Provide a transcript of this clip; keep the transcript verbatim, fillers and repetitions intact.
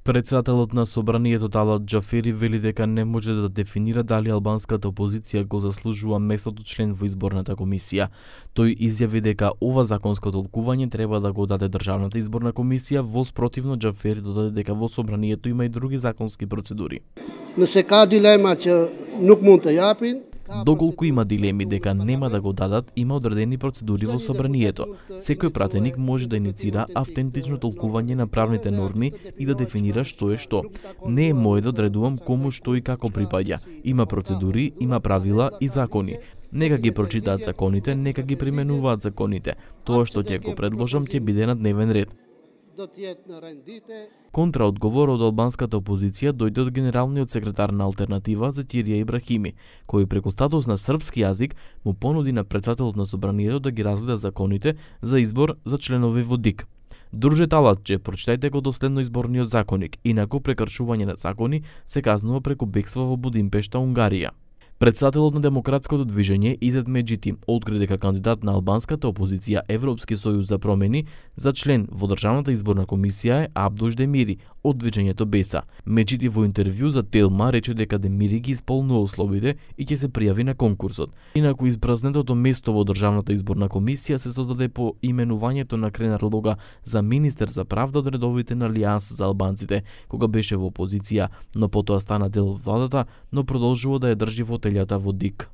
Председателот на собранието Талат Џафери вели дека не може да дефинира дали албанската опозиција го заслужува местото член во изборната комисија. Тој изјави дека ова законско толкување треба да го даде Државната изборна комисија, во спротивно Џафери додаде дека во собранието има и други законски процедури. Не се ка дилема че нук мунд те јапин. Доколку има дилеми дека нема да го дадат, има одредени процедури во собранието. Секој пратеник може да иницира автентично толкување на правните норми и да дефинира што е што. Не е мој да одредувам кому што и како припаѓа. Има процедури, има правила и закони. Нека ги прочитаат законите, нека ги применуваат законите. Тоа што ќе го предложам ќе биде на дневен ред. Контраодговор од албанската опозиција дојде од генералниот секретар на Алтернатива Зетирија Ибрахими, кој преку статус на српски јазик му понуди на председателот на собранието да ги разгледа законите за избор за членови во ДИК. Друже Талатче, прочитајте го доследно изборниот законник, инаку прекршување на закони се казнува преку бегство во Будимпешта, Унгарија. Председателот на Демократското движење Изет Меджити откри дека кандидат на албанската опозиција Европски сојуз за промени за член во Државната изборна комисија е Абдуш Демири од движењето Беса. Меджити во интервју за Телма рече дека Демири ги исполнува условите и ќе се пријави на конкурсот. Инаку испразнетото место во Државната изборна комисија се создаде по именувањето на Кренар Лога за министер за правда од редовите на Алијанс за албанците, кога беше во опозиција, но потоа стана дел од владата, но продолжува да ја држи во телјата во ДИК.